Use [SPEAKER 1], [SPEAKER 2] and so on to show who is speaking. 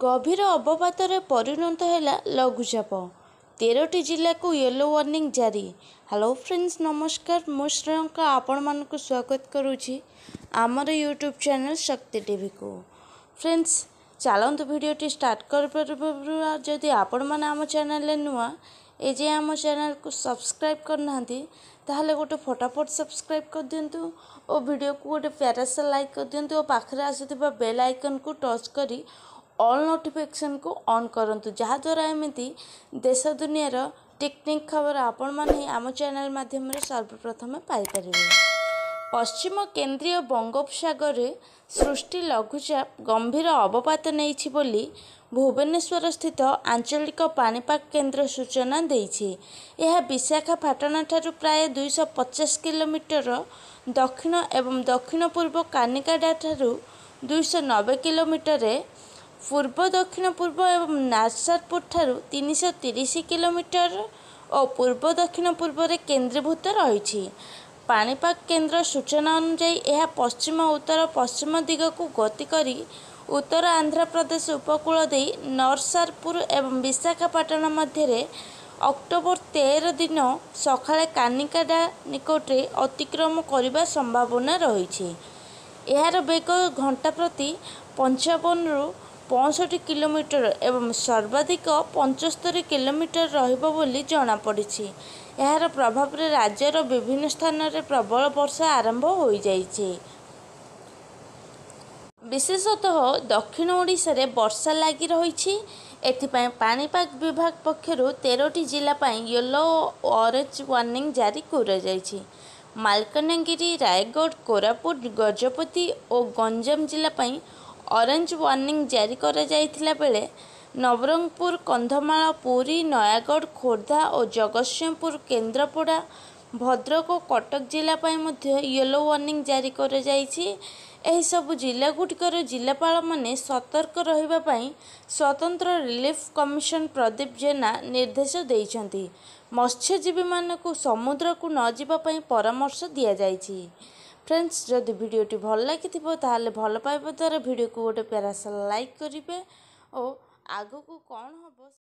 [SPEAKER 1] ଗଭୀର ଅବପାତରେ ପରିଣତ ହେଲା ଲଘୁଚାପ, 13ଟି ଜିଲ୍ଲାକୁ ୟେଲୋ ୱାର୍ଣ୍ଣିଂ ଜାରି। ହ୍ୟାଲୋ ଫ୍ରେଣ୍ଡସ୍, ନମସ୍କାର। ମୁଁ ଶ୍ରେୟଙ୍କା ଆପଣମାନଙ୍କୁ ସ୍ୱାଗତ କରୁଛି ଆମର ୟୁଟ୍ୟୁବ୍ ଚ୍ୟାନେଲ୍ ଶକ୍ତି ଟିଭିକୁ। ଫ୍ରେଣ୍ଡସ୍, ଚାଲନ୍ତୁ ଭିଡ଼ିଓଟି ଷ୍ଟାର୍ଟ କରିବା ପୂର୍ବରୁ ଯଦି ଆପଣମାନେ ଆମ ଚ୍ୟାନେଲରେ ନୂଆ, ଏଯାଏଁ ଆମ ଚ୍ୟାନେଲକୁ ସବସ୍କ୍ରାଇବ୍ କରିନାହାନ୍ତି, ତାହେଲେ ଗୋଟେ ଫଟାଫଟ ସବସ୍କ୍ରାଇବ୍ କରିଦିଅନ୍ତୁ ଓ ଭିଡ଼ିଓକୁ ଗୋଟେ ପ୍ୟାରାସା ଲାଇକ୍ କରିଦିଅନ୍ତୁ ଓ ପାଖରେ ଆସୁଥିବା ବେଲ୍ ଆଇକନ୍କୁ ଟଚ୍ କରି ଅଲ୍ ନୋଟିଫିକେସନ୍କୁ ଅନ୍ କରନ୍ତୁ, ଯାହାଦ୍ୱାରା ଏମିତି ଦେଶ ଦୁନିଆର ଟିକ୍ନିକ୍ ଖବର ଆପଣମାନେ ଆମ ଚ୍ୟାନେଲ୍ ମାଧ୍ୟମରେ ସର୍ବପ୍ରଥମେ ପାଇପାରିବେ। ପଶ୍ଚିମ କେନ୍ଦ୍ରୀୟ ବଙ୍ଗୋପସାଗରରେ ସୃଷ୍ଟି ଲଘୁଚାପ ଗମ୍ଭୀର ଅବପାତ ନେଇଛି ବୋଲି ଭୁବନେଶ୍ୱରସ୍ଥିତ ଆଞ୍ଚଳିକ ପାଣିପାଗ କେନ୍ଦ୍ର ସୂଚନା ଦେଇଛି। ଏହା ବିଶାଖାପାଟଣାଠାରୁ ପ୍ରାୟ 250 କିଲୋମିଟର ଦକ୍ଷିଣ ଏବଂ ଦକ୍ଷିଣ ପୂର୍ବ କାକିନାଡ଼ାଠାରୁ 290 କିଲୋମିଟରରେ ପୂର୍ବ ଦକ୍ଷିଣ ପୂର୍ବ ଏବଂ ନାର୍ସାପୁରଠାରୁ 330 କିଲୋମିଟର ଓ ପୂର୍ବ ଦକ୍ଷିଣ ପୂର୍ବରେ କେନ୍ଦ୍ରୀଭୂତ ରହିଛି। ପାଣିପାଗ କେନ୍ଦ୍ର ସୂଚନା ଅନୁଯାୟୀ, ଏହା ପଶ୍ଚିମ ଉତ୍ତର ପଶ୍ଚିମ ଦିଗକୁ ଗତି କରି ଉତ୍ତର ଆନ୍ଧ୍ରପ୍ରଦେଶ ଉପକୂଳ ଦେଇ ନରସାପୁର ଏବଂ ବିଶାଖାପାଟଣା ମଧ୍ୟରେ ଅକ୍ଟୋବର 13 ଦିନ ସକାଳେ କାକିନାଡ଼ା ନିକଟରେ ଅତିକ୍ରମ କରିବା ସମ୍ଭାବନା ରହିଛି। ଏହାର ବେଗ ଘଣ୍ଟା ପ୍ରତି 55ରୁ 65 କିଲୋମିଟର ଏବଂ ସର୍ବାଧିକ 75 କିଲୋମିଟର ରହିବ ବୋଲି ଜଣାପଡ଼ିଛି। ଏହାର ପ୍ରଭାବରେ ରାଜ୍ୟର ବିଭିନ୍ନ ସ୍ଥାନରେ ପ୍ରବଳ ବର୍ଷା ଆରମ୍ଭ ହୋଇଯାଇଛି। ବିଶେଷତଃ ଦକ୍ଷିଣ ଓଡ଼ିଶାରେ ବର୍ଷା ଲାଗି ରହିଛି। ଏଥିପାଇଁ ପାଣିପାଗ ବିଭାଗ ପକ୍ଷରୁ 13ଟି ଜିଲ୍ଲା ପାଇଁ ୟେଲୋ ଓ ଅରେଞ୍ଜ ୱାର୍ଣ୍ଣିଂ ଜାରି କରାଯାଇଛି। ମାଲକାନଗିରି, ରାୟଗଡ଼, କୋରାପୁଟ, ଗଜପତି ଓ ଗଞ୍ଜାମ ଜିଲ୍ଲା ପାଇଁ ଅରେଞ୍ଜ ୱାର୍ଣ୍ଣିଂ ଜାରି କରାଯାଇଥିଲା ବେଳେ ନବରଙ୍ଗପୁର, କନ୍ଧମାଳ, ପୁରୀ, ନୟାଗଡ଼, ଖୋର୍ଦ୍ଧା ଓ ଜଗତସିଂହପୁର, କେନ୍ଦ୍ରାପଡ଼ା, ଭଦ୍ରକ ଓ କଟକ ଜିଲ୍ଲା ପାଇଁ ମଧ୍ୟ ୟେଲୋ ୱାର୍ଣ୍ଣିଂ ଜାରି କରାଯାଇଛି। ଏହିସବୁ ଜିଲ୍ଲାଗୁଡ଼ିକର ଜିଲ୍ଲାପାଳମାନେ ସତର୍କ ରହିବା ପାଇଁ ସ୍ୱତନ୍ତ୍ର ରିଲିଫ୍ କମିଶନର ପ୍ରଦୀପ ଜେନା ନିର୍ଦ୍ଦେଶ ଦେଇଛନ୍ତି। ମତ୍ସ୍ୟଜୀବୀମାନଙ୍କୁ ସମୁଦ୍ରକୁ ନ ଯିବା ପାଇଁ ପରାମର୍ଶ ଦିଆଯାଇଛି। ଫ୍ରେଣ୍ଡସ୍, ଯଦି ଭିଡ଼ିଓଟି ଭଲ ଲାଗିଥିବ, ତାହେଲେ ଭଲ ପାଇବା ଦ୍ୱାରା ଭିଡ଼ିଓକୁ ଗୋଟେ ପ୍ୟାରାସା ଲାଇକ୍ କରିବେ ଓ ଆଗକୁ କ'ଣ ହେବ